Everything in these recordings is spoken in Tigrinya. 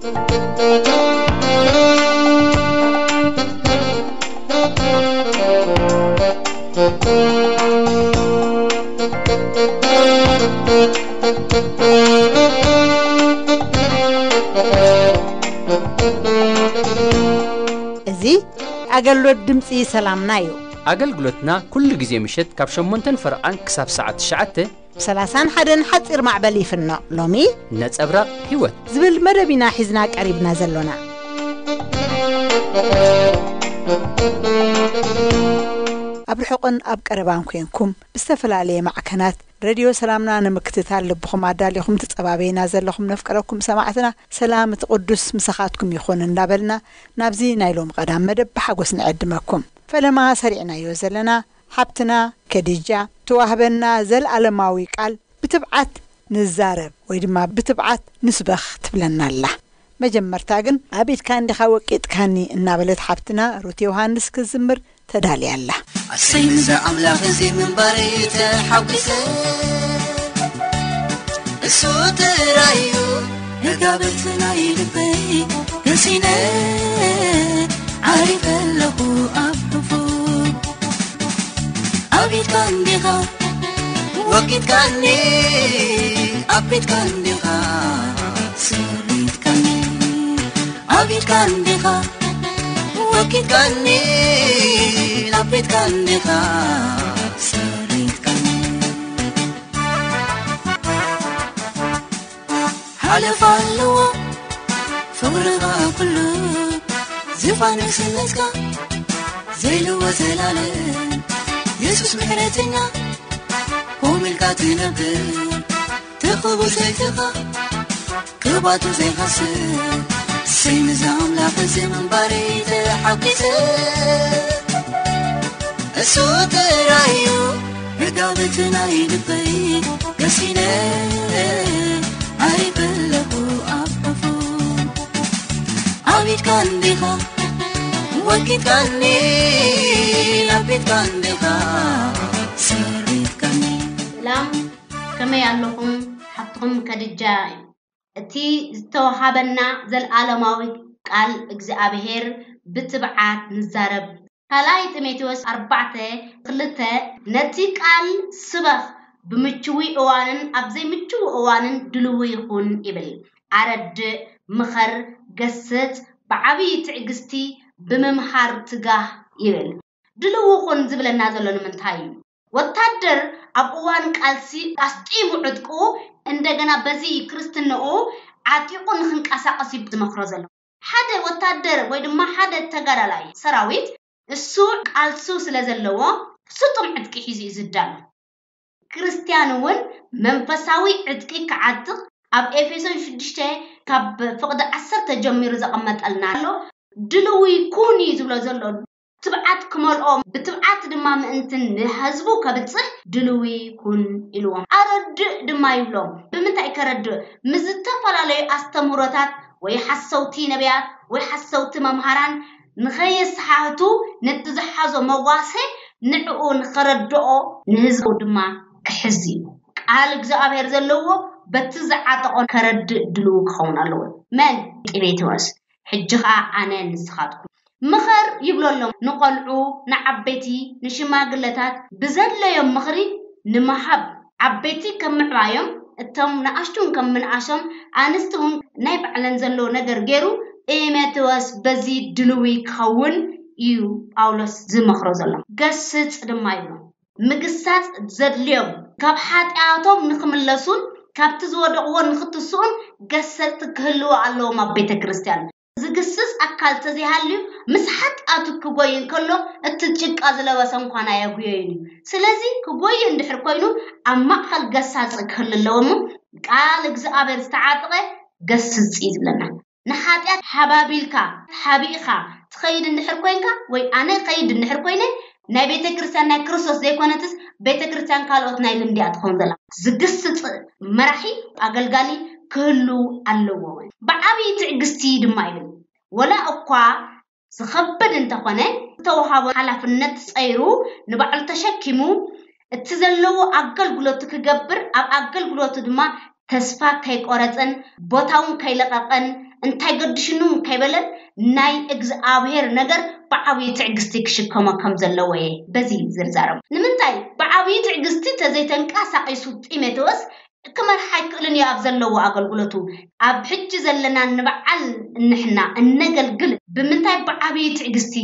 እዚ ኣገልግሎት ድምፂ ሰላምና እዩ። ኣገልግሎትና ኩሉ ግዜ ምሸት ካብ ሸሞንተን ፈረቓን ክሳብ ሰዓት ትሽዓተ ሰላሳን ሓደን ሓፂር ማዕበል ይፍኖ። ሎሚ ነጸብራቕ ህይወት ዝብል መደብ ኢና ሒዝና ቀሪብና ዘሎና። ኣብ ርሑቕን ኣብ ቀረባን ኮንኩም ብዝተፈላለየ ማዕከናት ሬድዮ ሰላምና ንምክትታል ልብኹም ኣዳሊኹም ትጸባበይና ዘለኹም ነፍቀረኩም ሰማዕትና፣ ሰላም እቲ ቅዱስ ምሳኻትኩም ይኹን እንዳበልና ናብዚ ናይ ሎም ቀዳም መደብ ብሓጎስ ንዕድመኩም። ፈለማ ሰሪዕናዮ ዘለና ሓብትና ከዲጃ ተዋህበና ዘልኣለማዊ ቃል ብትብዓት ንዛረብ ወይ ድማ ብትብዓት ንስበኽ ትብለና ኣላ። መጀመርታ ግን ኣብ ኢድካ እንዲኻ ወቂጥካኒ እናበለት ሓብትና ሩት ዮሃንስ ክትዝምር ተዳልያ ኣላ። ኣሰይ ምዛ ኣምላኽ እዚ ምንባረይ ተሓጒሰ፣ እሱ ጥራይ እዩ ህጋበት ናይ ልበይ ገሲነ፣ ዓሪፈ ኣለኹ ኣብ ክፉ። ኣብ ኢድካ እንዲኻ ወቂጥካኒ፣ ኣብ ቤትካ እንዲኻ ሰሪትካኒ፣ ኣብ ኢድካ እንዲኻ ወቂጥካኒ፣ ኣብ ቤትካ እንዲኻ ሰሪትካኒ። ሓለፋ ኣለዎ ፍቕርኻ ኩሉ፣ ዝፋን ንግስነትካ ዘይልወ ዘላለም። የሱስ ምሕረተኛ ኮም ኢልካ ትነብር፣ ትኽቡ ዘይትኻ ክባቱ ዘይሃስብ። ሰይ ምዛ ኣምላኽ እዚ ምንባረይ ተሓጒሰ፣ እሱ ጥራይ እዩ ህጋበት ናይ ልበይ ገሲነ፣ ዓሪፈ ኣለኹ ኣብ ክፉ። ኣብ ኢድካ እንዲኻ ወኪትካኒ፣ ኣብ ቤትካ እንዲኻ ሰሪትካኒ። ሰላም፣ ከመይ ኣለኹም? ሓፍትኹም ከድጃ። እቲ ዝተወሃበና ዘልኣለማዊ ቃል እግዚኣብሔር ብትብዓት ንዛረብ። ካልኣይ ጢሞቴዎስ ኣርባዕተ ክልተ፣ ነቲ ቃል ስበኽ፣ ብምችዊ እዋንን ኣብ ዘይምችዊ እዋንን ድልዊ ይኹን ይብል። ኣረድእ፣ ምኸር፣ ገስጽ፣ ብዓብዪ ትዕግስቲ ብምምሃር ትጋህ ይብል። ድልዊ ኩን ዝብለና ዘሎ ንምንታይ እዩ? ወታደር ኣብ እዋን ቃልሲ ኣስጢሙ ዕጥቁ፣ እንደገና በዚ ክርስትንኡ ዓጢቑ ንኽንቀሳቐስ እዩ ዝመኽሮ ዘሎ። ሓደ ወታደር ወይ ድማ ሓደ ተጋዳላይ ሰራዊት እሱ ቃልሱ ስለ ዘለዎ ስጡም ዕጥቂ ሒዙ እዩ ዝዳሎ። ክርስትያን እውን መንፈሳዊ ዕጥቂ ክዓጥቕ ኣብ ኤፌሶን ሽዱሽተ ካብ ፍቕዲ ዓሰርተ ጀሚሩ ዘቐመጠልና ኣሎ። ድልዊ ኩን እዩ ዝብሎ ዘሎ። ትብዓት ክመልኦም፣ ብትብዓት ድማ ምእንቲ ንህዝቡ ከብጽሕ ድልዊ ኩን ኢልዎም። ኣረድእ ድማ ይብሎም። ብምንታይ ከረድእ? ምስ ዝተፈላለዩ ኣስተምህሮታት ወይ ሓሰውቲ ነቢያት ወይ ሓሰውቲ መምሃራን ንኸየሰሓህቱ ነቲ ዝሓዞ መዋሴ ንዕኡ ንኸረድኦ ንህዝቡ ድማ ክሕዝ እዩ። ቃል እግዚኣብሔር ዘለዎ በቲ ዝዓጠቖ ከረድእ ድልው ክኸውን ኣለዎ። መን? ጢሞቴዎስ። ሕጂ ኸኣ ኣነ ንስኻትኩም ምኸር ይብሎ ኣሎ። ንቖልዑ፣ ንዓበይቲ፣ ንሽማግለታት ብዘድለዮም ምኽሪ ንምሃብ፣ ዓበይቲ ከም ምዕባዮም፣ እቶም ንኣሽቱን ከም ምንኣሾም፣ ኣንስቲ እውን ናይ ባዕለን ዘለዎ ነገር ገይሩ፣ ጢሞቴዎስ በዚ ድልዊ ክኸውን እዩ ጳውሎስ ዝመኽሮ ዘሎ። ገስጽ ድማ ይብሎ። ምግሳጽ ዘድልዮም፣ ካብ ሓጢኣቶም ንኽምለሱን ካብቲ ዝወደቕዎ ንኽትስኡን ገሰጽቲ ክህልዉ ኣለዎም ኣብ ቤተ ክርስቲያን። ዝግስጽ ኣካል ተዘይሃልዩ፣ ምስ ሓጢኣቱ ክጎይ እንከሎ፣ እቲ ጭቃ ዝለበሰ እንኳን ኣየጉየዮን እዩ። ስለዚ ክጎይ እንድሕር ኮይኑ፣ ኣብ ማእከል ገሳጺ ክህሉ ኣለዎ እሞ፣ ቃል እግዚኣብሔር ዝተዓጥቀ ገስጽ እዩ ዝብለና። ንሓጢኣት ሓባቢልካ፣ ሓቢእኻ ትኸይድ እንድሕር ኮይንካ፣ ወይ ኣነ ከይድ እንድሕር ኮይነ፣ ናይ ቤተ ክርስቲያን ናይ ክርስቶስ ዘይኮነትስ፣ ቤተ ክርስቲያን ካልኦት ናይ ልምዲ እያ ትኸውን ዘላ። ዝግስጽ መራሒ፣ ኣገልጋሊ ክህሉ ኣለዎ። ብዓብዪ ትዕግስቲ ድማ ይብል። ወላ እኳ ዝኸብድ እንተኾነ፣ ዝተወሃቦ ሓላፍነት ጸይሩ፣ ንባዕሉ ተሸኪሙ፣ እቲ ዘለዎ ኣገልግሎቱ ክገብር፣ ኣብ ኣገልግሎቱ ድማ ተስፋ ከይቆረጸን፣ ቦታ እውን ከይለቐቐን፣ እንታይ ገድሽኑ ከይበለ ናይ እግዚኣብሔር ነገር ብዓብዪ ትዕግስቲ ክሽከሞ ከም ዘለዎ እየ በዚ ዝርዛረብ። ንምንታይ ብዓብዪ ትዕግስቲ ተዘይተንቀሳቒሱ ጢሞቴዎስ ክመርሕ ኣይክእልን እዩ ኣብ ዘለዎ ኣገልግሎቱ። ኣብ ሕጂ ዘለና ንበዓል ንሕና እነገልግል ብምንታይ ብዓብዪ ትዕግስቲ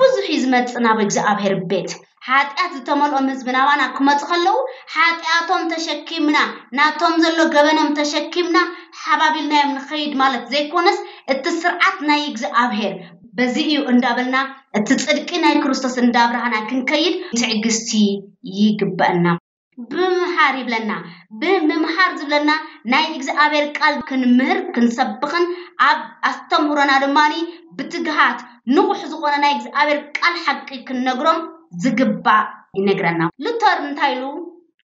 ብዙሕ እዩ ዝመጽእ ናብ እግዚኣብሔር ቤት። ሓጢኣት ዝተመልኦም ህዝቢ ናባና ክመጹ ከለዉ ሓጢኣቶም ተሸኪምና ናቶም ዘሎ ገበኖም ተሸኪምና ሓባቢልናዮም ንኸይድ ማለት ዘይኮነስ እቲ ስርዓት ናይ እግዚኣብሔር በዚ እዩ እንዳበልና እቲ ጽድቂ ናይ ክርስቶስ እንዳብርሃና ክንከይድ ትዕግስቲ ይግበአና። ብምምሃር ይብለና። ብምምሃር ዝብለና ናይ እግዚኣብሔር ቃል ክንምህር ክንሰብኽን ኣብ ኣስተምህሮና ድማ ብትግሃት ንቑሕ ዝኾነ ናይ እግዚኣብሔር ቃል ሓቂ ክንነግሮም ዝግባእ ይነግረና። ሉተር እንታይ ኢሉ?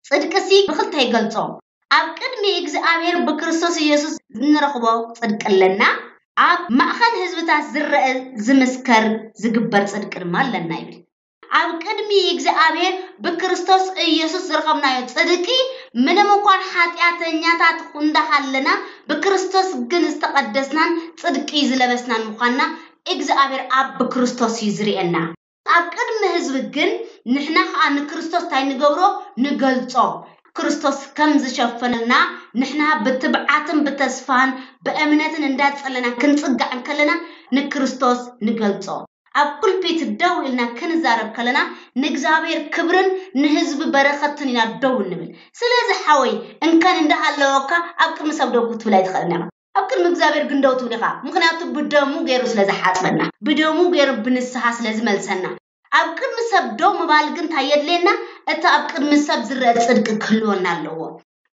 ጽድቅሲ ብኽልተ ይገልጾ። ኣብ ቅድሚ እግዚኣብሔር ብክርስቶስ ኢየሱስ እንረኽቦ ጽድቂ ኣለና፣ ኣብ ማእኸል ህዝብታት ዝረአ ዝምስከር ዝግበር ጽድቂ ድማ ኣለና ይብል። ኣብ ቅድሚ እግዚኣብሔር ብክርስቶስ ኢየሱስ ዝረኸብናዮ ጽድቂ ምንም እንኳን ሓጢኣተኛታት እንዳሃለና ብክርስቶስ ግን ዝተቐደስናን ጽድቂ ዝለበስናን ምዃንና እግዚኣብሔር ኣብ ብክርስቶስ እዩ ዝርእየና። ኣብ ቅድሚ ህዝቢ ግን ንሕና ኸኣ ንክርስቶስ እንታይ ንገብሮ? ንገልጾ። ክርስቶስ ከም ዝሸፈነልና ንሕና ብትብዓትን ብተስፋን ብእምነትን እንዳጸለና ክንጽጋዕ እንከለና ንክርስቶስ ንገልጾ። ኣብ ፑልፒት ደው ኢልና ክንዛረብ ከለና ንእግዚኣብሔር ክብርን ንህዝቢ በረኸትን ኢና ደው እንብል። ስለዚ ሓወይ እንከን እንዳሃለወካ ኣብ ቅድሚ ሰብ ደው ክትብል ኣይትኽእልን ኢኻ። ኣብ ቅድሚ እግዚኣብሔር ግን ደው ትብል ኢኻ። ምኽንያቱ ብደሙ ገይሩ ስለ ዝሓጽበና፣ ብደሙ ገይሩ ብንስሓ ስለ ዝመልሰና። ኣብ ቅድሚ ሰብ ደው ምባል ግን እንታይ የድልየና? እቲ ኣብ ቅድሚ ሰብ ዝረአ ጽድቂ ክህልወና ኣለዎ።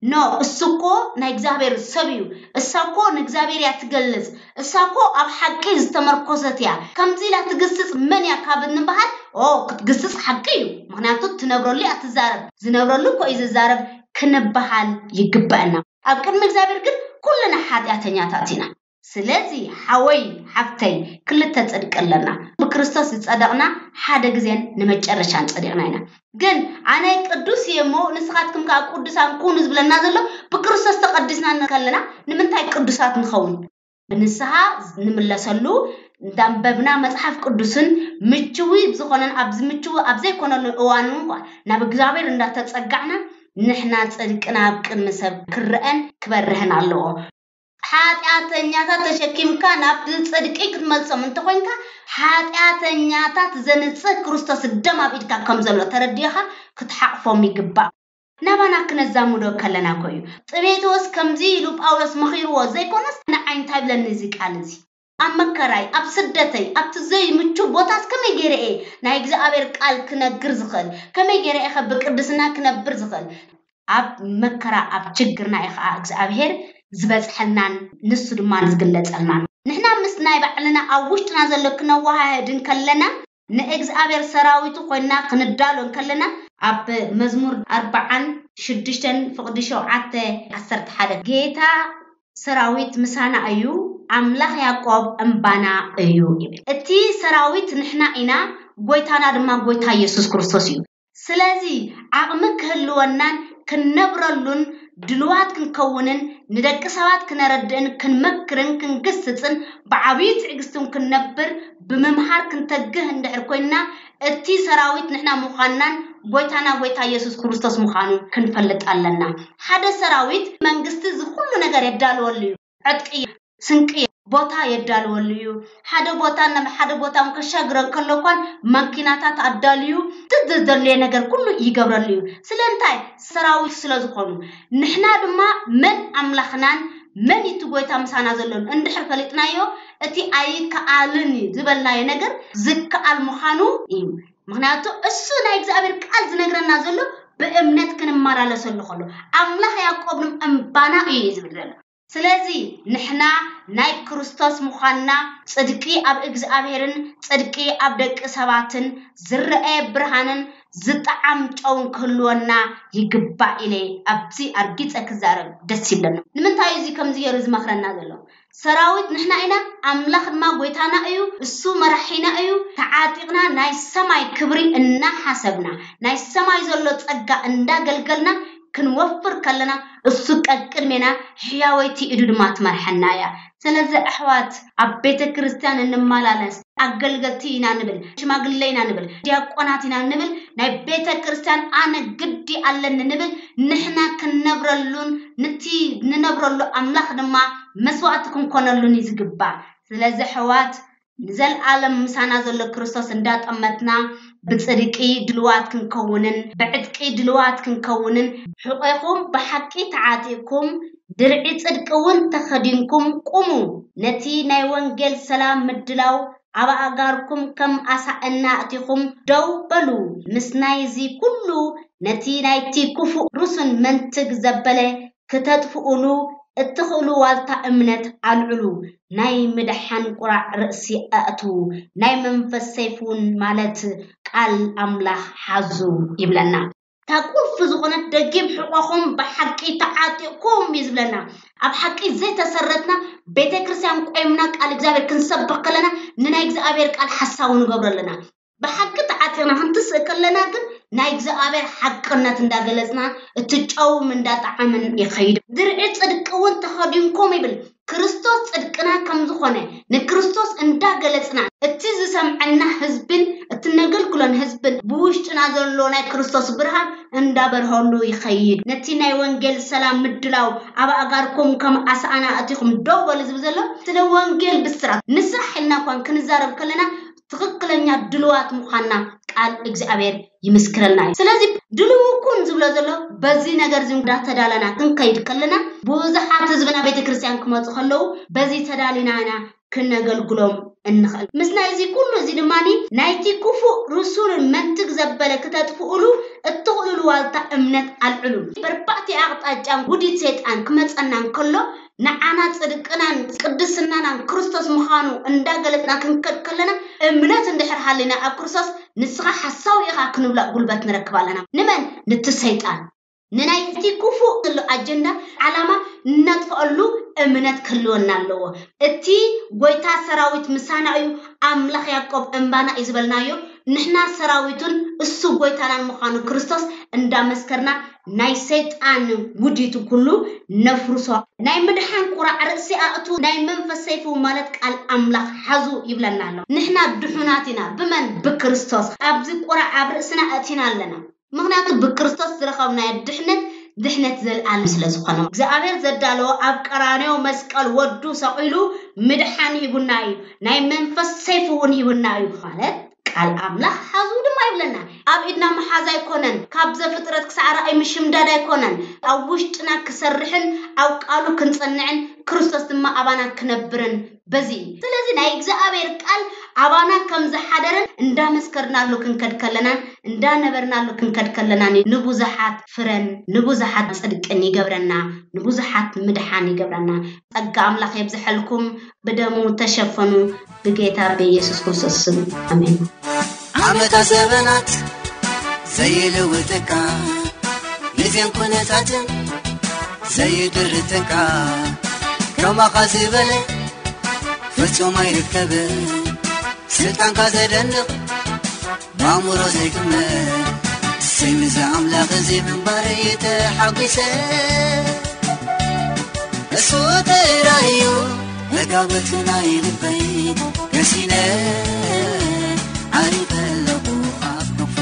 ኖ እሱ እኮ ናይ እግዚኣብሔር ሰብ እዩ። እሳ እኮ ንእግዚኣብሔር እያ ትገልጽ። እሳ እኮ ኣብ ሓቂ ዝተመርኮሰት እያ። ከምዚ ኢላ ትግስጽ መን እያ ካብ እንበሃል፣ ኦ ክትግስጽ ሓቂ እዩ። ምኽንያቱ ትነብረሉ እያ ትዛረብ። ዝነብረሉ እኮ እዩ ዝዛረብ ክንበሃል ይግበአና። ኣብ ቅድሚ እግዚኣብሔር ግን ኩልና ሓጢኣተኛታት ኢና። ስለዚ ሓወይ ሓፍተይ ክልተ ጽድቂ ኣለና። ብክርስቶስ ዝጸደቕና ሓደ ግዜን ንመጨረሻን ጸዲቕና ኢና። ግን ኣነ ቅዱስ እየ እሞ ንስኻትኩም ከኣ ቅዱሳን ኩኑ ዝብለና ዘሎ ብክርስቶስ ተቐዲስና እንከለና ንምንታይ ቅዱሳት ንኸውን? ብንስሓ ንምለሰሉ እንዳንበብና መጽሓፍ ቅዱስን ምችዊ ዝኾነን ኣብዚ ምችዊ ኣብ ዘይኮነሉ እዋን እንኳ ናብ እግዚኣብሔር እንዳተጸጋዕና ንሕና ጽድቅና ኣብ ቅድሚ ሰብ ክረአን ክበርህን ኣለዎ። ሓጢኣተኛታት ተሸኪምካ ናብ ጽድቂ ክትመልሶም እንተኾይንካ ሓጢኣተኛታት ዘንጽህ ክርስቶስ ደም ኣብ ኢድካ ከም ዘሎ ተረዲእኻ ክትሓቕፎም ይግባእ። ናባና ክነዛምዶ ከለና እኮ እዩ። ጢሞቴዎስ ከምዚ ኢሉ ጳውሎስ መኺርዎ ዘይኮነስ ንዓይ እንታይ ብለኒ እዚ ቃል እዚ? ኣብ መከራይ፣ ኣብ ስደተይ፣ ኣብቲ ዘይምቹ ቦታስ ከመይ ገይረ እየ ናይ እግዚኣብሔር ቃል ክነግር ዝኽእል? ከመይ ገይረ እየ ከ ብቅድስና ክነብር ዝኽእል? ኣብ መከራ ኣብ ችግርና እዩ ከዓ እግዚኣብሔር ዝበፅሐልናን ንሱ ድማ ዝግለፀልናን። ንሕና ምስ ናይ ባዕልና ኣብ ውሽጥና ዘሎ ክነወሃህድ እንከለና ንእግዚኣብሔር ሰራዊቱ ኮይንና ክንዳሎ እንከለና ኣብ መዝሙር ኣርባዓን ሽዱሽተን ፍቕዲ ሸውዓተ ዓሰርተ ሓደ ጌታ ሰራዊት ምሳና እዩ፣ ኣምላኽ ያዕቆብ እምባና እዩ ይብል። እቲ ሰራዊት ንሕና ኢና፣ ጎይታና ድማ ጎይታ ኢየሱስ ክርስቶስ እዩ። ስለዚ ዓቕሚ ክህልወናን ክንነብረሉን ድልዋት ክንከውንን ንደቂ ሰባት ክነረድእን ክንመክርን ክንግስጽን ብዓብዪ ትዕግስትን ክንነብር ብምምሃር ክንተግህ እንድሕር ኮይንና እቲ ሰራዊት ንሕና ምዃንናን ጎይታና ጎይታ ኢየሱስ ክርስቶስ ምዃኑ ክንፈልጥ ኣለና። ሓደ ሰራዊት መንግስቲ እዚ ኩሉ ነገር የዳልወሉ እዩ። ዕጥቂ፣ ስንቂ፣ ቦታ የዳልወሉ እዩ። ሓደ ቦታ ናብ ሓደ ቦታ እውን ከሻግረን ከሎ እኳን ማኪናታት ኣዳልዩ እቲ ዘድልየ ነገር ኩሉ ይገብረሉ እዩ። ስለምንታይ? ሰራዊት ስለ ዝኾኑ። ንሕና ድማ መን ኣምላኽናን መን እቲ ጎይታ ምሳና ዘሎን እንድሕር ፈሊጥናዮ እቲ ኣይከኣልን እዩ ዝበልናዮ ነገር ዝከኣል ምዃኑ እዩ። ምኽንያቱ እሱ ናይ እግዚኣብሔር ቃል ዝነግረና ዘሎ ብእምነት ክንመላለሰሉ ከሎ ኣምላኽ ያዕቆብ እምባና እዩ ዝብል ዘሎ። ስለዚ ንሕና ናይ ክርስቶስ ምዃንና ጽድቂ ኣብ እግዚኣብሔርን ጽድቂ ኣብ ደቂ ሰባትን ዝረኣየ ብርሃንን ዝጠዓም ጨውን ክህልወና ይግባእ ኢለ ኣብዚ ኣርጊጸ ክዛረብ ደስ ይብለና። ንምንታይ እዩ እዚ ከምዚ ገይሩ ዝመኽረና ዘሎ? ሰራዊት ንሕና ኢና፣ ኣምላኽ ድማ ጎይታና እዩ፣ እሱ መራሒና እዩ። ተዓጢቕና ናይ ሰማይ ክብሪ እናሓሰብና፣ ናይ ሰማይ ዘሎ ጸጋ እንዳገልገልና ክንወፍር ከለና፣ እሱ ቀቅድሜና ሕያወይቲ ኢዱ ድማ ትመርሐና እያ። ስለዚ ኣሕዋት፣ ኣብ ቤተ ክርስቲያን እንመላለስ፣ ኣገልገልቲ ኢና ንብል፣ ሽማግለ ኢና ንብል፣ ዲያቆናት ኢና ንብል፣ ናይ ቤተ ክርስቲያን ኣነ ግዲ ኣለኒ ንብል፣ ንሕና ክንነብረሉን ንቲ ንነብረሉ ኣምላኽ ድማ መስዋእቲ ክንኮነሉን እዩ ዝግባእ። ስለዚ ኣሕዋት፣ ንዘለኣለም ምሳና ዘሎ ክርስቶስ እንዳጠመትና፣ ብጽድቂ ድልዋት ክንከውንን ብዕጥቂ ድልዋት ክንከውንን፣ ሕቆኹም ብሓቂ ተዓጢቕኩም፣ ድርዒ ጽድቂ እውን ተኸዲንኩም ቁሙ። ነቲ ናይ ወንጌል ሰላም ምድላው ኣብ ኣእጋርኩም ከም ኣሳእና ኣእቲኹም ደው በሉ። ምስ ናይዚ ኩሉ፣ ነቲ ናይቲ ክፉእ ርሱን መንትግ ዘበለ ክተጥፍኡሉ እትኽእሉ ዋልታ እምነት ኣልዕሉ። ናይ ምድሓን ቁራዕ ርእሲ ኣእትዉ። ናይ መንፈስ ሰይፍ እውን፣ ማለት ቃል ኣምላኽ፣ ሓዙ ይብለና። እታ ቁልፊ ዝኾነት ደጊም ሕቆኹም ብሓቂ ተዓጢቕኩም እዩ ዝብለና። ኣብ ሓቂ ዘይተሰረትና፣ ቤተ ክርስቲያን ቆይምና ቃል እግዚኣብሔር ክንሰብኽ ከለና፣ ንናይ እግዚኣብሔር ቃል ሓሳዊ ንገብሮ ኣለና። ብሓቂ ተዓጢቕና ክንትስእ ከለና ግን፣ ናይ እግዚኣብሔር ሓቅነት እንዳገለጽና፣ እቲ ጨውም እንዳጠዓመን ይኸይድ። ድርዒ ጽድቂ እውን ተኸዲንኩም ይብል። ክርስቶስ ጽድቅና ከም ዝኾነ ንክርስቶስ እንዳገለጽና፣ እቲ ዝሰምዐና ህዝብን እቲ ነገልግሎን ህዝብን ብውሽጥና ዘሎ ናይ ክርስቶስ ብርሃን እንዳበርሃሉ ይኸይድ። ነቲ ናይ ወንጌል ሰላም ምድላው ኣብ ኣእጋርኩም ከም ኣሳእና ኣእቲኹም ደው በሉ ዝብል ዘሎ፣ ስለ ወንጌል ብስራት ንስራሕ ኢልና እኳን ክንዛረብ ከለና፣ ትኽክለኛ ድልዋት ምዃንና ቃል እግዚኣብሔር ይምስክረልና እዩ። ስለዚ ድልው ኩን ዝብሎ ዘሎ፣ በዚ ነገር እዚ እንዳተዳለና ክንከይድ ከለና፣ ብዙሓት ህዝብና ቤተ ክርስቲያን ክመፁ ከለዉ፣ በዚ ተዳሊና ኢና ክነገልግሎም እንኽእል። ምስ ናይዚ ኩሉ እዚ ድማ፣ ናይቲ ክፉእ ርሱንን መንትግ ዘበለ ክተጥፍኡሉ እትኽእሉሉ ዋልታ እምነት ኣልዕሉ። በርባዕቲ ኣቕጣጫን ውዲት ሰይጣን ክመፀና እንከሎ፣ ንዓና ጽድቅናን ቅድስናናን ክርስቶስ ምዃኑ እንዳገለጽና ክንከድ ከለና፣ እምነት እንድሕር ሃሊና ኣብ ክርስቶስ፣ ንስኻ ሓሳዊ ኢኻ ክንብላ ጉልበት ንረክብ ኣለና። ንመን? ንቲ ሰይጣን። ንናይቲ ክፉእ ዘሎ ኣጀንዳ፣ ዓላማ እነጥፍኣሉ እምነት ክህልወና ኣለዎ። እቲ ጎይታ ሰራዊት ምሳና እዩ፣ ኣምላኽ ያዕቆብ እምባና እዩ ዝበልናዮ፣ ንሕና ሰራዊቱን እሱ ጎይታናን ምዃኑ ክርስቶስ እንዳመስከርና፣ ናይ ሰይጣን ውዲቱ ኩሉ ነፍርሶ። ናይ ምድሓን ቁራዕ ርእሲ ኣእቱ፣ ናይ መንፈስ ሰይፉ ማለት ቃል ኣምላኽ ሓዙ ይብለና ኣሎ። ንሕና ድሑናት ኢና። ብመን? ብክርስቶስ። ኣብዚ ቁራዕ ኣብ ርእስና ኣእቲና ኣለና። ምኽንያቱ ብክርስቶስ ዝረኸብናዮ ድሕነት፣ ድሕነት ዘልኣለም ስለ ዝኾነ። እግዚኣብሔር ዘዳለዎ ኣብ ቀራንዮ መስቀል ወዱ ሰቒሉ ምድሓን ሂቡና እዩ። ናይ መንፈስ ሰይፉ እውን ሂቡና እዩ። ማለት ቃል ኣምላኽ ሓዙ ድማ ይብለና። ኣብ ኢድና ምሓዝ ኣይኮነን፣ ካብ ዘፍጥረት ክሳዕ ራእይ ምሽምዳድ ኣይኮነን፣ ኣብ ውሽጥና ክሰርሕን ኣብ ቃሉ ክንጸንዕን ክርስቶስ ድማ ኣባና ክነብርን በዚ እዩ። ስለዚ ናይ እግዚኣብሔር ቃል ኣባና ከም ዝሓደረን እንዳመስከርናሉ ክንከድ ከለናን እንዳነበርናሉ ክንከድ ከለናን ንብዙሓት ፍረን ንብዙሓት ጽድቅን ይገብረና፣ ንብዙሓት ምድሓን ይገብረና። ጸጋ ኣምላኽ የብዝሐልኩም። ብደሙ ተሸፈኑ። ብጌታ ብኢየሱስ ክርስቶስ ስም ኣሜን። ዓመታት ዘበናት ዘይልውጥካ፣ ግዜን ኩነታትን ዘይድርትካ፣ ከማኻ ዝበለ ፍጹም ኣይርከብን። ስልጣንካ ዘደንቕ፣ ብኣእምሮ ዘይግመት፣ ስም እዚ ኣምላኽ እዚ ምንባረይ ተሓጒሰ። እሱ ጥራይ እዩ መጋበቲ ናይ ልበይ፣ ገሲነ ዓሪፈ ኣለኹ ኣብ ክንፉ።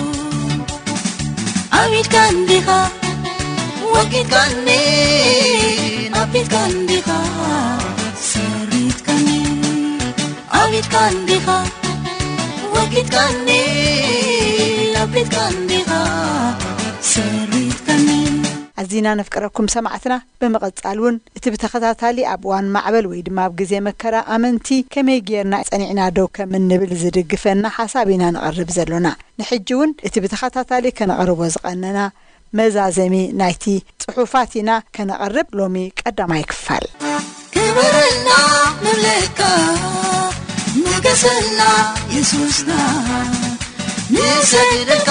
ኣብ ኢድካ እንዲኻ ወጊድካኒ፣ ኣብ ኢድካ እንዲኻ ሰሪትካኒ። ኣብ ኢድካ እንዲኻ ወጊድካኒ፣ ኣብ ኢድካ እንዲኻ ሰሪትካኒ። ኣዚና ነፍቅረኩም ሰማዕትና። ብምቕጻል እውን እቲ ብተኸታታሊ ኣብ እዋን ማዕበል ወይ ድማ ኣብ ግዜ መከራ ኣመንቲ ከመይ ጌርና ጸኒዕና ደው ከም እንብል ዝድግፈና ሓሳብ ኢና ነቕርብ ዘሎና። ንሕጂ እውን እቲ ብተኸታታሊ ከነቕርቦ ዝቐነና መዛዘሚ ናይቲ ጽሑፋት ኢና ከነቕርብ ሎሚ ቀዳማይ ክፋል። ክበረልና ንብለካ፣ ንገሰልና የሱስና፣ ንሰግደልካ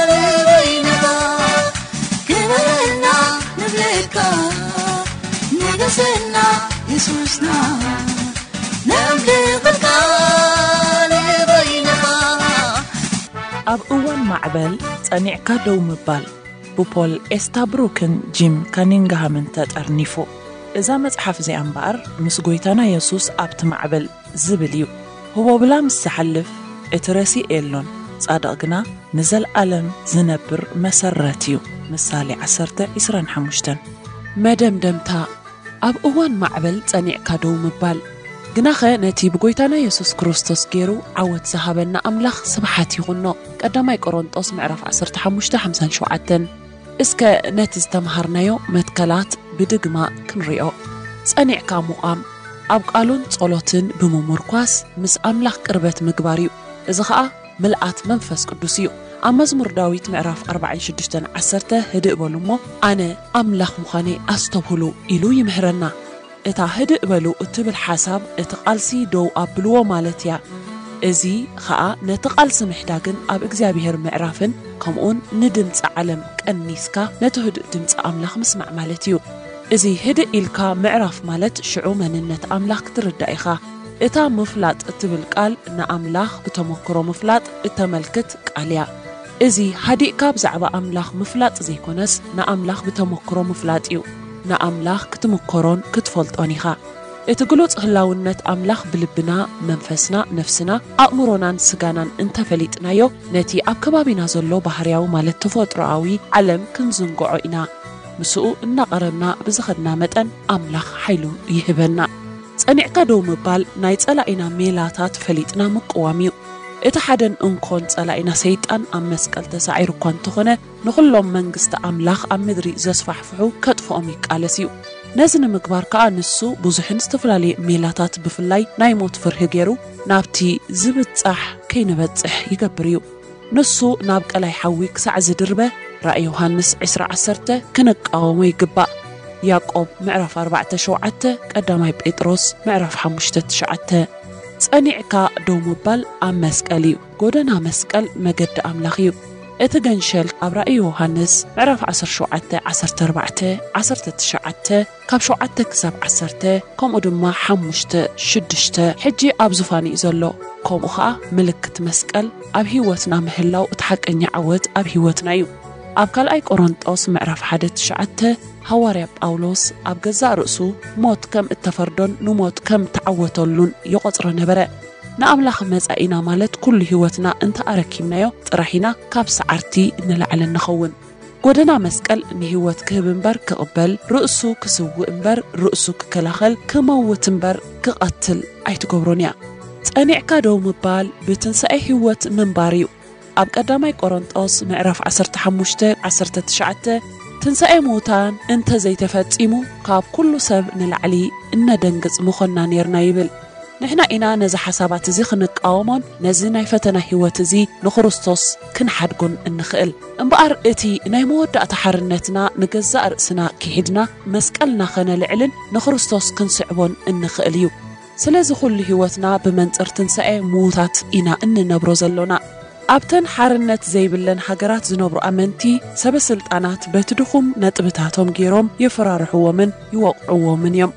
ንበይንኻ። ክበረልና ንብለካ፣ ንገሰልና የሱስና፣ ነምልኸልካ ንበይንኻ። ኣብ እዋን ማዕበል ጸኒዕካ ደው ምባል። ብፖል ኤስታብሩክን ጂም ካኒንግሃምን ተጠርኒፉ። እዛ መጽሓፍ እዚኣ እምበኣር፣ ምስ ጐይታና የሱስ ኣብቲ ማዕበል ዝብል እዩ። ህቦብላ ምስ ዝሓልፍ፣ እቲ ረሲእ የሎን፣ ጻድቕ ግና ንዘለኣለም ዝነብር መሰረት እዩ። ምሳሌ ዓሰርተ፣ ዕስራን ሓሙሽተን። መደምደምታ፣ ኣብ እዋን ማዕበል ጸኒዕካ ደው ምባል። ግናኸ ነቲ ብጎይታና የሱስ ክርስቶስ ገይሩ ዓወት ዝሃበና ኣምላኽ ስብሓት ይኹኖ። ቀዳማይ ቆሮንጦስ ምዕራፍ ዓሰርተ ሓሙሽተ፣ ሓምሳን ሸውዓተን። እስከ ነቲ ዝተምሃርናዮ መትከላት ብድግማ ክንሪኦ። ጸኒዕካ ምቋም፣ ኣብ ቃሉን ጸሎትን ብምምርኳስ ምስ ኣምላኽ ቅርበት ምግባር እዩ። እዚ ኸኣ ምልኣት መንፈስ ቅዱስ እዩ። ኣብ መዝሙር ዳዊት ምዕራፍ ኣርባዓን ሽዱሽተን ዓሰርተ፣ "ህድእ በሉ እሞ ኣነ ኣምላኽ ምዃነይ ኣስተብህሉ" ኢሉ ይምህረና። እታ "ህድእ በሉ" እትብል ሓሳብ፣ እቲ ቃልሲ ደው ኣብልዎ ማለት እያ። እዚ ኸኣ ነቲ ቃልሲ ምሕዳግን ኣብ እግዚኣብሔር ምዕራፍን፣ ከምኡውን ንድምጺ ዓለም ቀኒስካ ነቲ ህዱእ ድምጺ ኣምላኽ ምስማዕ ማለት እዩ። እዚ ህድእ ኢልካ ምዕራፍ ማለት፣ ሽዑ መንነት ኣምላኽ ክትርዳእ ኢኻ። እታ ምፍላጥ እትብል ቃል፣ ንኣምላኽ ብተመክሮ ምፍላጥ እተመልክት ቃል እያ። እዚ ሃዲእካ ብዛዕባ ኣምላኽ ምፍላጥ ዘይኮነስ፣ ንኣምላኽ ብተመክሮ ምፍላጥ እዩ። ንኣምላኽ ክትምከሮን ክትፈልጦን ኢኻ። እቲ ግሉጽ ህላውነት ኣምላኽ ብልብና፣ መንፈስና፣ ነፍስና፣ ኣእምሮናን ስጋናን እንተፈሊጥናዮ፣ ነቲ ኣብ ከባቢና ዘሎ ባህርያዊ ማለት ተፈጥሮኣዊ ዓለም ክንዝንግዖ ኢና። ምስኡ እናቐረብና ብዝኸድና መጠን ኣምላኽ ሓይሉ ይህበና። ጸኒዕካ ደው ምባል ናይ ጸላኢና ሜላታት ፈሊጥና ምቅዋም እዩ። እቲ ሓደን እንኮን ጸላኢና ሰይጣን ኣብ መስቀል ተሳዒሩ እኳ እንተኾነ፣ ንኹሎም መንግስቲ ኣምላኽ ኣብ ምድሪ ዘስፋሕፍሑ ከጥፍኦም ይቃለስ እዩ። ነዚ ንምግባር ከኣ ንሱ ብዙሕን ዝተፈላለየ ሜላታት ብፍላይ ናይ ሞት ፍርሂ ገይሩ ናብቲ ዝብጻሕ ከይንበጽሕ ይገብር እዩ። ንሱ ናብ ቀላይ ሓዊ ክሳዕ ዝድርበ ራእይ ዮሃንስ ዕስራ ዓሰርተ ክንቃወሞ ይግባእ። ያዕቆብ ምዕራፍ ኣርባዕተ ሸውዓተ፣ ቀዳማይ ጴጥሮስ ምዕራፍ ሓሙሽተ ትሽዓተ። ጸኒዕካ ደው ምባል ኣብ መስቀል እዩ። ጎደና መስቀል መገዲ ኣምላኽ እዩ። እቲ ገንሸል ኣብ ራእይ ዮሃንስ ምዕራፍ ዓሰርተ ሸውዓተ፣ ዓሰርተ ኣርባዕተ፣ ዓሰርተ ትሽዓተ፣ ካብ ሸውዓተ ክሳብ ዓሰርተ፣ ከምኡ ድማ ሓሙሽተ ሽዱሽተ፣ ሕጂ ኣብ ዙፋን እዩ ዘሎ። ከምኡ ኸኣ ምልክት መስቀል ኣብ ህይወትና ምህላው እቲ ሓቀኛ ዓወት ኣብ ህይወትና እዩ። ኣብ ካልኣይ ቆሮንጦስ ምዕራፍ ሓደ ትሽዓተ፣ ሃዋርያ ጳውሎስ ኣብ ገዛእ ርእሱ ሞት ከም እተፈርዶን ንሞት ከም ተዓወተሉን ይቖጽሮ ነበረ። ንኣምላኽ መጻኢና ማለት ኩሉ ህይወትና እንተ ኣረኪብናዮ ጥራሕ ኢና ካብ ሰዓርቲ ንላዕሊ እንኸውን። ጎደና መስቀል ንህይወት ክህብ እምበር ክቕበል፣ ርእሱ ክስውእ እምበር ርእሱ ክከላኸል፣ ክመውት እምበር ክቐትል ኣይትገብሮን እያ። ጸኒዕካ ደው ምባል ብትንሳኤ ህይወት ምንባር እዩ። ኣብ ቀዳማይ ቆሮንጦስ ምዕራፍ ዓሰርተ ሓሙሽተ፣ ዓሰርተ ትሽዓተ፣ ትንሳኤ ምዉታን እንተ ዘይተፈጺሙ፣ ካብ ኩሉ ሰብ ንላዕሊ እነደንግጽ ምኾንና ኔርና ይብል። ንሕና ኢና ነዚ ሓሳባት እዚ ክንቃወሞን ነዚ ናይ ፈተና ህይወት እዚ ንክርስቶስ ክንሓድጎን እንኽእል። እምበኣር እቲ ናይ መወዳእታ ሓርነትና ንገዛእ ርእስና ክሒድና መስቀልና ከነልዕልን ንክርስቶስ ክንስዕቦን እንኽእል እዩ። ስለዚ ኩሉ ህይወትና ብመንጽር ትንሳኤ ምዉታት ኢና እንነብሮ ዘሎና። ኣብተን ሓርነት ዘይብለን ሃገራት ዝነብሩ ኣመንቲ ሰበ ስልጣናት በቲ ድኹም ነጥብታቶም ገይሮም የፈራርሕዎምን ይወቕዕዎምን እዮም።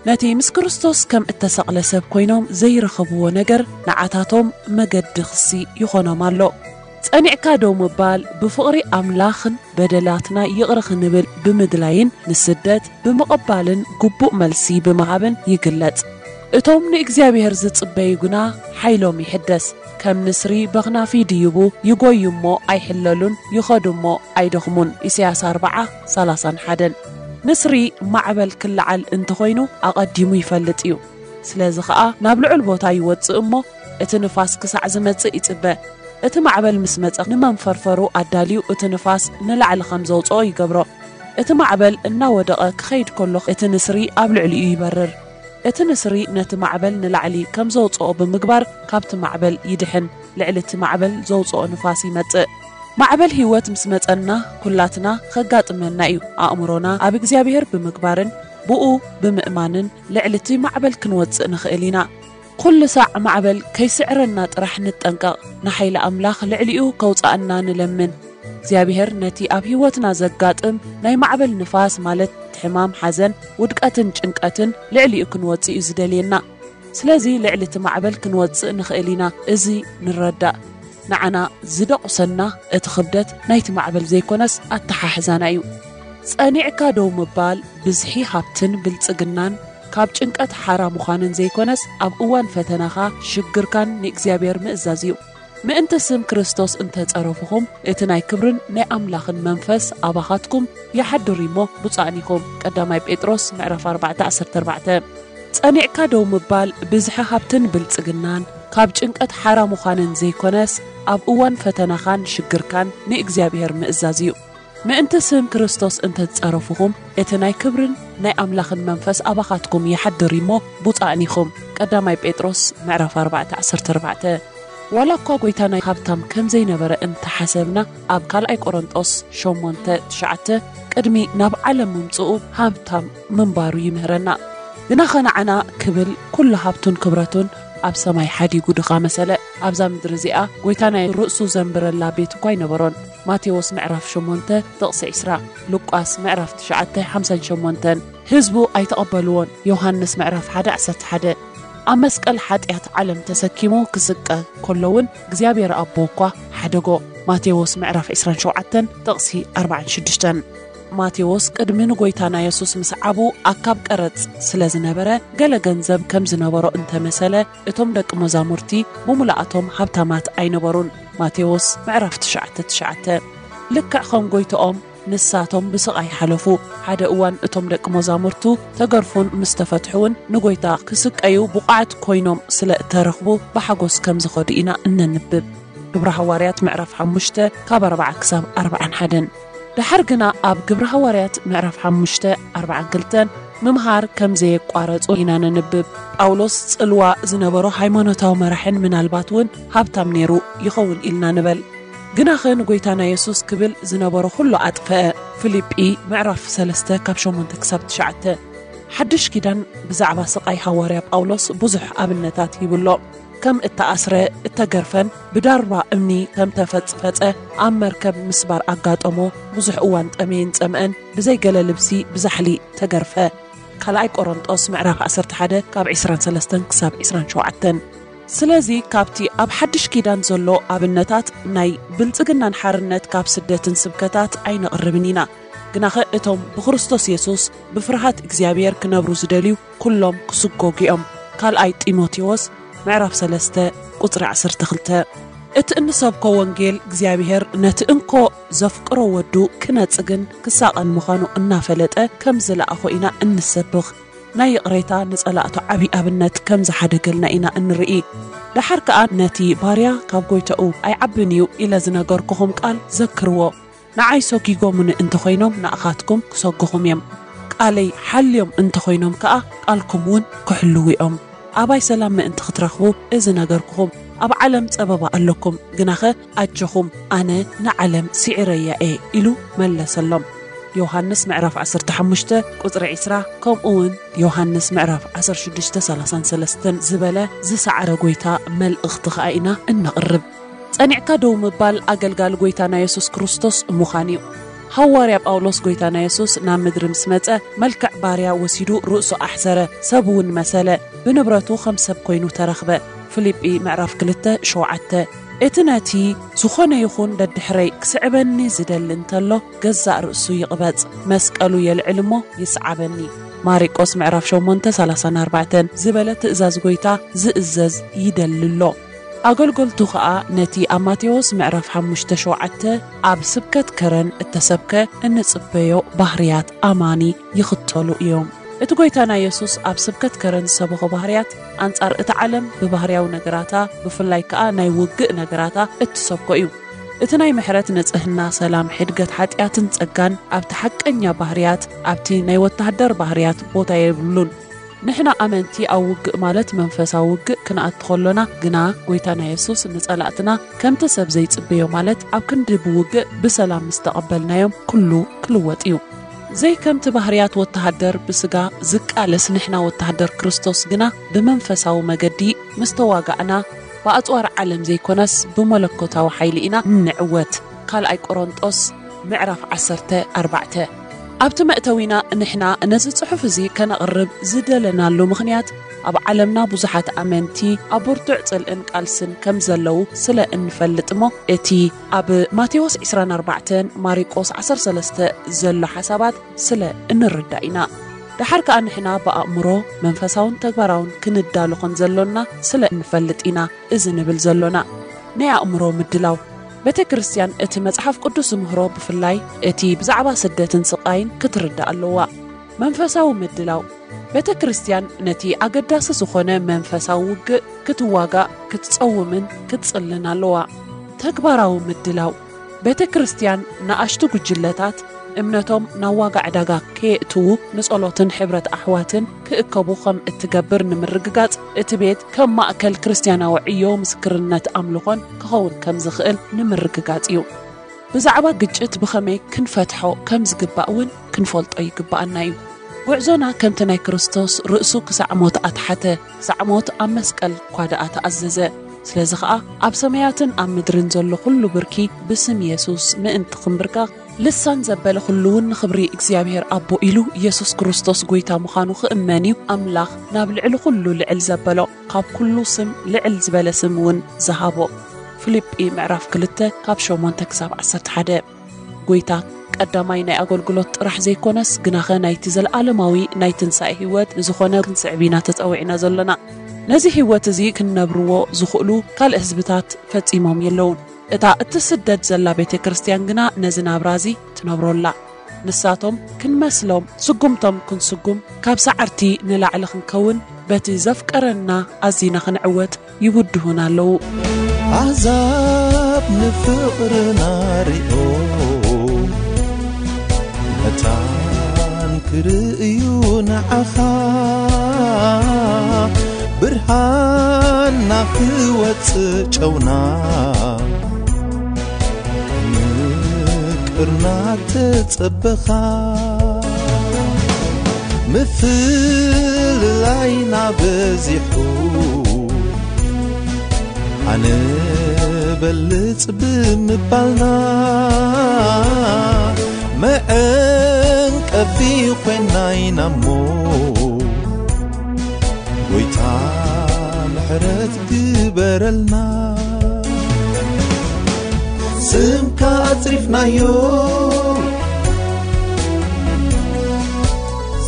ነቲ ምስ ክርስቶስ ከም እተሰቕለ ሰብ ኮይኖም ዘይረኸብዎ ነገር ንዓታቶም መገዲ ክሲ ይኾኖም ኣሎ። ጸኒዕካ ደው ምባል ብፍቕሪ ኣምላኽን በደላትና ይቕረ ክንብል ብምድላይን ንስደት ብምቕባልን ግቡእ መልሲ ብምሃብን ይግለጽ። እቶም ንእግዚኣብሔር ዝጽበዩ ግና ሓይሎም ይሕደስ። ከም ንስሪ በኽናፊ ይድይቡ፣ ይጎዩ እሞ ኣይሕለሉን፣ ይኸዱ እሞ ኣይደኽሙን። ኢሳያስ ኣርብዓ፣ ሰላሳን ሓደን። ንስሪ ማዕበል ክለዓል እንተኾይኑ ኣቐዲሙ ይፈልጥ እዩ። ስለዚ ኸኣ ናብ ልዑል ቦታ ይወጽእ እሞ እቲ ንፋስ ክሳዕ ዝመጽእ ይጽበ። እቲ ማዕበል ምስ መጸ ንመንፈርፈሩ ኣዳልዩ እቲ ንፋስ ንላዕሊ ከም ዘውጽኦ ይገብሮ። እቲ ማዕበል እናወደቐ ክኸይድ ከሎ እቲ ንስሪ ኣብ ልዕሊኡ ይበርር። እቲ ንስሪ ነቲ ማዕበል ንላዕሊ ከም ዘውጽኦ ብምግባር ካብቲ ማዕበል ይድሕን፣ ልዕሊ እቲ ማዕበል ዘውጽኦ ንፋስ ይመጽእ። ማዕበል ህይወት ምስ መጸና ኩላትና ከጋጥመና እዩ። ኣእምሮና ኣብ እግዚኣብሔር ብምግባርን ብኡ ብምእማንን ልዕሊ እቲ ማዕበል ክንወጽእ ንኽእል ኢና። ኩሉ ሳዕ ማዕበል ከይስዕረና ጥራሕ ንጠንቀቕ። ንሓይሊ ኣምላኽ ልዕሊኡ ከውጽኣና ንለምን። እግዚኣብሔር ነቲ ኣብ ህይወትና ዘጋጥም ናይ ማዕበል ንፋስ ማለት ሕማም፣ ሓዘን፣ ውድቀትን ጭንቀትን ልዕሊኡ ክንወጽእ እዩ ዝደልየና። ስለዚ ልዕሊ እቲ ማዕበል ክንወጽእ ንኽእል ኢና። እዚ ንረዳእ። ንዓና ዝደቑሰና እቲ ክብደት ናይቲ ማዕበል ዘይኮነስ ኣተሓሕዛና እዩ። ጸኒዕካ ደው ምባል ብዝሒ ሃብትን ብልጽግናን ካብ ጭንቀት ሓራ ምዃንን ዘይኮነስ ኣብ እዋን ፈተናኻ ሽግርካን ንእግዚኣብሔር ምእዛዝ እዩ። ምእንቲ ስም ክርስቶስ እንተጸረፍኹም እቲ ናይ ክብርን ናይ ኣምላኽን መንፈስ ኣባኻትኩም ይሓድር እሞ ብፁዓን ኢኹም። ቀዳማይ ጴጥሮስ ምዕራፍ ኣርባዕተ ዓሰርተ ኣርባዕተ። ጸኒዕካ ደው ምባል ብዝሒ ሃብትን ብልጽግናን ካብ ጭንቀት ሓራ ምዃንን ዘይኮነስ ኣብ እዋን ፈተናኻን ሽግርካን ንእግዚኣብሔር ምእዛዝ እዩ። ምእንቲ ስም ክርስቶስ እንተትጸረፍኹም እቲ ናይ ክብርን ናይ ኣምላኽን መንፈስ ኣባኻትኩም ይሓድር እሞ ብፁዓን ኢኹም። ቀዳማይ ጴጥሮስ ምዕራፍ ኣርባዕተ ዓሰርተ ኣርባዕተ። ዋላ እኳ ጎይታ ናይ ሃብታም ከም ዘይነበረ እንተሓሰብና ኣብ ካልኣይ ቆሮንጦስ ሸሞንተ ትሽዓተ ቅድሚ ናብ ዓለም ምምጽኡ ሃብታም ምንባሩ ይምህረና። ግናኸ ንዓና ክብል ኩሉ ሃብቱን ክብረቱን ኣብ ሰማይ ሓዲጉ ድኻ መሰለ። ኣብዛ ምድሪ እዚኣ ጎይታ ናይ ርእሱ ዘንብረላ ቤት እኳ ኣይነበሮን። ማቴዎስ ምዕራፍ ሸሞንተ ጥቕሲ ዕስራ፣ ሉቃስ ምዕራፍ ትሽዓተ ሓምሳን ሸሞንተን። ህዝቡ ኣይተቐበልዎን። ዮሃንስ ምዕራፍ ሓደ ዓሰርተ ሓደ። ኣብ መስቀል ሓጢኣት ዓለም ተሰኪሙ ክስቀ ከሎ እውን እግዚኣብሔር ኣቦ እኳ ሓደጎ። ማቴዎስ ምዕራፍ ዕስራን ሸውዓተን ጥቕሲ ኣርባዓን ሽዱሽተን። ማቴዎስ ቅድሚ ንጎይታና የሱስ ምስዓቡ ኣካብ ቀረጽ ስለ ዝነበረ ገለ ገንዘብ ከም ዝነበሮ እንተመሰለ እቶም ደቂ መዛሙርቲ ብሙሉኣቶም ሃብታማት ኣይነበሩን። ማቴዎስ ምዕራፍ ትሽዓተ ትሽዓተ። ልክዕ ከም ጎይትኦም ንሳቶም ብስቓይ ሓለፉ። ሓደ እዋን እቶም ደቂ መዛሙርቱ ተገርፉን ምስ ተፈትሑ እውን ንጎይታ ክስቀዩ ብቑዓት ኮይኖም ስለ እተረኽቡ ብሓጎስ ከም ዝኸዱ ኢና እነንብብ። ግብረ ሃዋርያት ምዕራፍ ሓሙሽተ ካብ ኣርባዓ ክሳብ ኣርባዓን ሓደን። ደሓር ግና ኣብ ግብረ ሃዋርያት ምዕራፍ ሓሙሽተ ኣርባዓን ክልተን ምምሃር ከም ዘየቋረጹ ኢና ነንብብ። ጳውሎስ ጽልዋ ዝነበሮ ሃይማኖታዊ መራሕን ምናልባት እውን ሃብታም ነይሩ ይኸውን ኢልና ንበል። ግናኸ ንጎይታና የሱስ ክብል ዝነበሮ ኩሉ ኣጥፈአ። ፊልጲ ምዕራፍ ሰለስተ ካብ ሸሞንተ ክሳብ ትሽዓተ። ሓድሽ ኪዳን ብዛዕባ ስቓይ ሃዋርያ ጳውሎስ ብዙሕ ኣብነታት ሂብሎ። ከም እተኣስረ፣ እተገርፈን ብዳርባ እምኒ ከም ተፈጽፈጸ ኣብ መርከብ ምስባር ኣጋጠሞ። ብዙሕ እዋን ጠመየን ጸምአን ብዘይ ገለ ልብሲ ብዛሕሊ ተገርፈ። ካልኣይ ቆሮንጦስ ምዕራፍ ዓሰርተ ሓደ ካብ ዕስራን ሰለስተን ክሳብ ዕስራን ሸውዓተን። ስለዚ ካብቲ ኣብ ሓድሽ ኪዳን ዘሎ ኣብነታት ናይ ብልጽግናን ሓርነት ካብ ስደትን ስብከታት ኣይነቕርብን ኢና። ግናኸ እቶም ብክርስቶስ የሱስ ብፍርሃት እግዚኣብሔር ክነብሩ ዝደልዩ ኩሎም ክስጎጉ እዮም። ካልኣይ ጢሞቴዎስ ምዕራፍ ሰለስተ ቁጽሪ ዓሰርተ ክልተ። እቲ እንሰብኮ ወንጌል እግዚኣብሔር ነቲ እንኮ ዘፍቅሮ ወዱ ክነጽግን ክሳቐን ምዃኑ እናፈለጠ ከም ዝለኣኾ ኢና እንሰብኽ። ናይ ይቕሬታ ንጸላእቱ ዓቢ ኣብነት ከም ዝሓደገልና ኢና እንርኢ። ደሓር ከኣ ነቲ ባርያ ካብ ጎይታኡ ኣይዓብን እዩ ኢለ ዝነገርኩኹም ቃል ዘክርዎ። ንዓይ ሰጒጎምኒ እንተኾይኖም ንኣኻትኩም ክሰጉኹም እዮም። ቃለይ ሓልዮም እንተኾይኖም ከኣ ቃልኩም እውን ክሕልዉ እዮም። ኣባይ ሰላም ምእንቲ ክትረኽቡ እዚ ነገርኩኹም። ኣብ ዓለም ጸበባ ኣለኩም፣ ግናኸ ኣጆኹም፣ ኣነ ንዓለም ስዒረያ እየ ኢሉ መለሰሎም። ዮሃንስ ምዕራፍ ዓሰርተ ሓሙሽተ ቁጽሪ ዕስራ፣ ከምኡ እውን ዮሃንስ ምዕራፍ ዓሰርተ ሽዱሽተ ሰላሳን ሰለስተን ዝበለ ዝሰዓረ ጎይታ መልእኽቲ ኸኣ ኢና እነቕርብ። ጸኒዕካ ደው ምባል ኣገልጋሊ ጎይታና የሱስ ክርስቶስ ምዃን እዩ። ሃዋርያ ጳውሎስ ጎይታና የሱስ ናብ ምድሪ ምስ መጸ መልክዕ ባርያ ወሲዱ ርእሱ ኣሕሰረ፣ ሰብ እውን መሰለ፣ ብንብረቱ ከም ሰብ ኮይኑ ተረኽበ። ፊልጲ ምዕራፍ ክልተ ሸውዓተ። እቲ ነቲ ዝኾነ ይኹን ደድሕረይ ክስዕበኒ ዝደሊ እንተሎ ገዛእ ርእሱ ይቕበጽ፣ መስቀሉ የልዕል እሞ ይስዓበኒ። ማሪቆስ ምዕራፍ ሸሞንተ ሰላሳን ኣርባዕተን ዝበለ ትእዛዝ ጎይታ ዝእዘዝ ይደሊ ኣሎ። ኣገልገልቱ ኸኣ ነቲ ኣብ ማቴዎስ ምዕራፍ ሓሙሽተ ሸውዓተ ኣብ ስብከት ከረን እተሰብከ እንጽበዮ ባህርያት ኣማኒ ይኽተሉ እዮም። እቲ ጎይታና የሱስ ኣብ ስብከት ከረን ዝሰበኾ ባህርያት ኣንጻር እታ ዓለም ብባህርያዊ ነገራታ፣ ብፍላይ ከኣ ናይ ውግእ ነገራታ እትሰብኮ እዩ። እቲ ናይ ምሕረት ንጽህና፣ ሰላም፣ ሕድገት ሓጢኣትን ጸጋን ኣብቲ ሓቀኛ ባህርያት፣ ኣብቲ ናይ ወተሃደር ባህርያት ቦታ የብሉን። ንሕና ኣመንቲ ኣብ ውግእ ማለት መንፈሳዊ ውግእ ክንኣቱ ከሎና ግና፣ ጎይታና የሱስ ንጸላእትና ከምቲ ሰብ ዘይጽበዮ ማለት ኣብ ክንዲ ብውግእ ብሰላም ምስ ተቐበልናዮም ኩሉ ክልወጥ እዩ። ዘይከምቲ ባህርያት ወተሃደር ብስጋ ዝቃለስ ንሕና ወተሃደር ክርስቶስ ግና ብመንፈሳዊ መገዲ ምስ ተዋጋእና ብኣጽዋር ዓለም ዘይኮነስ ብመለኮታዊ ሓይሊ ኢና እንዕወት። ካልኣይ ቆሮንጦስ ምዕራፍ ዓሰርተ ኣርባዕተ። ኣብቲ መእተዊና ንሕና ነዚ ጽሑፍ እዚ ከነቕርብ ዝደለናሉ ምኽንያት ኣብ ዓለምና ብዙሓት ኣመንቲ ኣብ ብርቱዕ ጽልእን ቃልስን ከም ዘለዉ ስለ እንፈልጥ እሞ፣ እቲ ኣብ ማቴዎስ ዕስራን ኣርባዕተን ማሪቆስ ዓሰርተ ሰለስተ ዘሎ ሓሳባት ስለ እንርዳእ ኢና። ደሓር ከኣ ንሕና ብኣእምሮ መንፈሳውን ተግባራውን ክንዳሎ ከም ዘሎና ስለ እንፈልጥ ኢና እዚ ንብል ዘሎና። ናይ ኣእምሮ ምድላው። ቤተ ክርስቲያን እቲ መጽሓፍ ቅዱስ ዝምህሮ ብፍላይ እቲ ብዛዕባ ስደትን ስቓይን ክትርዳእ ኣለዋ። መንፈሳዊ ምድላው። ቤተ ክርስቲያን ነቲ ኣገዳሲ ዝኾነ መንፈሳዊ ውግእ ክትዋጋእ፣ ክትጸውምን ክትጽልን ኣለዋ። ተግባራዊ ምድላው። ቤተ ክርስቲያን ንኣሽቱ ጉጅለታት እምነቶም ናብ ዋጋ ዕዳጋ ከየእትዉ ንጸሎትን ሕብረት ኣሕዋትን ክእከቡ ከም እትገብር ንምርግጋጽ፣ እቲ ቤት ከም ማእከል ክርስትያናዊ ዕዮ ምስክርነት ኣምልኾን ክኸውን ከም ዝኽእል ንምርግጋጽ እዩ። ብዛዕባ ግጭት ብኸመይ ክንፈትሖ ከም ዝግባእ እውን ክንፈልጦ ይግባኣና እዩ። ጉዕዞና ከምቲ ናይ ክርስቶስ ርእሱ ክሳዕ ሞት ኣትሓተ፣ ክሳዕ ሞት ኣብ መስቀል እኳ ደኣ ተኣዘዘ። ስለዚ ኸኣ ኣብ ሰማያትን ኣብ ምድርን ዘሎ ኹሉ ብርኪ ብስም የሱስ ምእንቲ ኽንብርካ፣ ልሳን ዘበለ ኹሉ እውን ንኽብሪ እግዚኣብሔር ኣቦ ኢሉ የሱስ ክርስቶስ ጐይታ ምዃኑ ክእመን እዩ ኣምላኽ ናብ ልዕሊ ኹሉ ልዕል ዘበሎ፣ ካብ ኩሉ ስም ልዕል ዝበለ ስም እውን ዝሃቦ። ፊልጲ ምዕራፍ ክልተ ካብ ሸሞንተ ክሳብ ዓሰርተ ሓደ። ጐይታ ቀዳማይ ናይ ኣገልግሎት ጥራሕ ዘይኮነስ፣ ግናኸ ናይቲ ዘለኣለማዊ ናይ ትንሳኤ ህይወት ንዝኾነ ክንስዕብ ኢና ተጸዊዕና ዘሎና። ነዚ ህይወት እዚ ክንነብርዎ ዝኽእሉ ካልእ ህዝብታት ፈጺሞም የለዉን። እታ እትስደድ ዘላ ቤተ ክርስቲያን ግና ነዚ ናብራ እዚ ትነብሮ ኣላ። ንሳቶም ክንመስሎም፣ ስጉምቶም ክንስጉም፣ ካብ ሰዓርቲ ንላዕሊ ክንከውን፣ በቲ ዘፍቀረና ኣዚና ክንዕወት ይብድሁና ኣለዉ። ኣሕዛብ ንፍቕርና ሪኦም መታን ክርእዩ ንዓኻ ብርሃንና ክወጽእ ጨውና ምቅርና ተጸበኻ ምፍልላይና በዚሑ ኣነ በልጽ ብምባልና መዐንቀፊ ኮይና ኢና እሞ ጎይታ ምሕረት ግበረልና። ስምካ ኣጽሪፍናዮ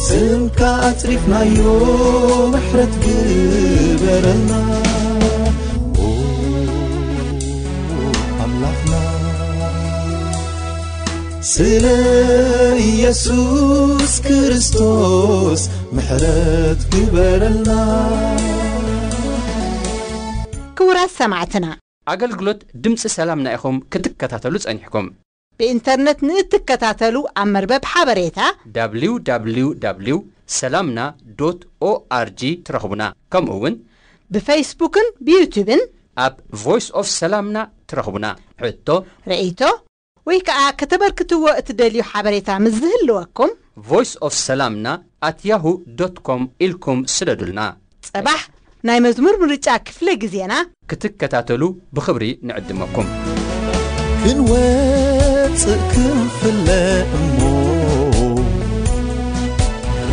ስምካ ኣጽሪፍናዮ ምሕረት ግበረልና ኦ ኣምላኽና ስለ ኢየሱስ ክርስቶስ ምሕረት ግበረልና። ክቡራት ሰማዕትና ኣገልግሎት ድምፂ ሰላምና ኢኹም ክትከታተሉ ጸኒሕኩም። ብኢንተርነት ንእትከታተሉ ኣብ መርበብ ሓበሬታ www ሰላምና ዶት ኦኣርጂ ትረኽቡና። ከምኡ እውን ብፌስቡክን ብዩቱብን ኣብ ቮይስ ኦፍ ሰላምና ትረኽቡና። ሕቶ፣ ርእይቶ ወይ ከዓ ከተበርክትዎ እትደልዩ ሓበሬታ ምስ ዝህልወኩም voice of ሰላምና at yahoo dot com ኢልኩም ስደዱልና። ጽባሕ ናይ መዝሙር ምርጫ ክፍለ ግዜና ክትከታተሉ ብኽብሪ ንዕድመኩም። ክንወፅእ ክንፍለ እሞ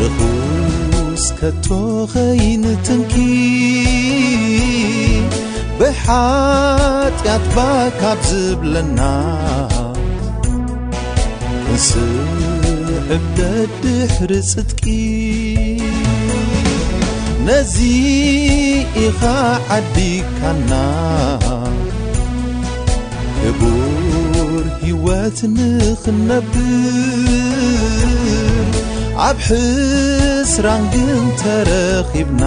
ርኹስ ከቶ ኸይንትንኪ ብሓጢኣት ባካብ ዝብለና ክንስዕብ ደድሕሪ ጽድቂ ነዚ ኢኻ ዓዲካና ክቡር ህይወት ንኽነብር ኣብ ሕስራን ግን ተረኺብና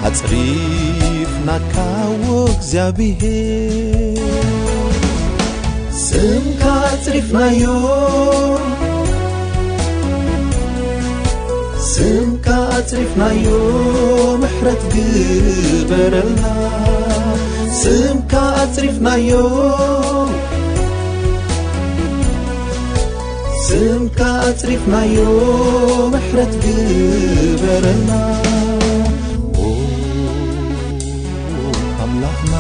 ኣጽሪፍናካ ወእግዚኣብሔር ስምካ ኣጽሪፍናዮ ስምካ ኣጽሪፍናዮ ምሕረት ግበረልና ስምካ ኣጽሪፍናዮ ስምካ ኣጽሪፍናዮ ምሕረት ግበረልና ኦ ኣምላኽና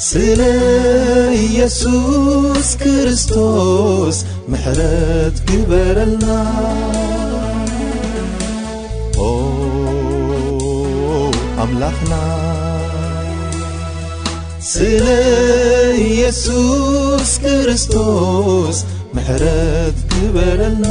ስለ ኢየሱስ ክርስቶስ ምሕረት ግበረልና ኣምላኽና ስለ ኢየሱስ ክርስቶስ ምሕረት ግበረልና።